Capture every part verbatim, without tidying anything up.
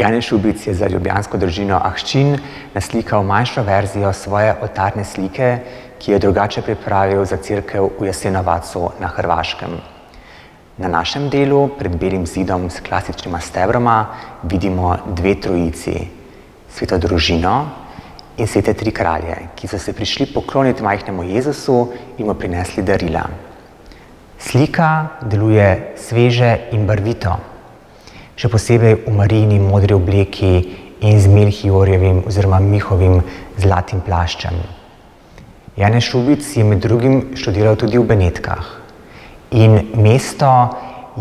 Janez Šubic je za ljubljansko družino Ahčin naslikal manjšo verzijo svoje oltarne slike, ki jo je drugače pripravil za cerkev v Jasenovacu na Hrvaškem. Na našem delu, pred belim zidom s klasičnima stebroma, vidimo dve trojici, Sveto družino in svete tri kralje, ki so se prišli pokloniti majhnemu Jezusu in mu prinesli darila. Slika deluje sveže in barvito, še posebej v Marijini modri obleki in z Melchiorjevim oziroma Mihovim zlatim plaščem. Janez Šubic je med drugim študiral tudi v Benetkah in mesto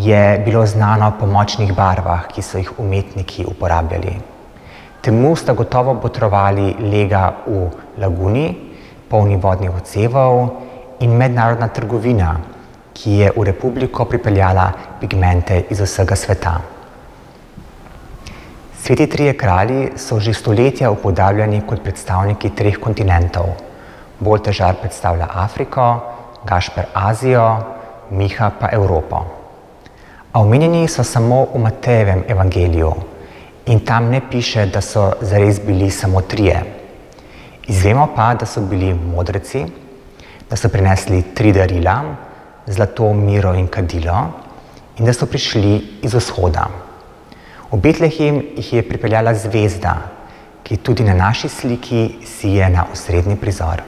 je bilo znano po močnih barvah, ki so jih umetniki uporabljali. Temu sta gotovo botrovali lega v laguni, polni vodnih odsevov, in mednarodna trgovina, ki je v republiko pripeljala pigmente iz vsega sveta. Sveti trije kralji so že stoletja upodabljani kot predstavniki treh kontinentov. Boltežar predstavlja Afriko, Gašper Azijo, Miha pa Evropo. A omenjeni so samo v Matejevem evangeliju in tam ne piše, da so zares bili samo trije. Izvemo pa, da so bili modreci, da so prinesli tri darila, zlato, miro in kadilo, in da so prišli iz vzhoda. V Betlehem jih je pripeljala zvezda, ki tudi na naši sliki sije na osrednji prizor.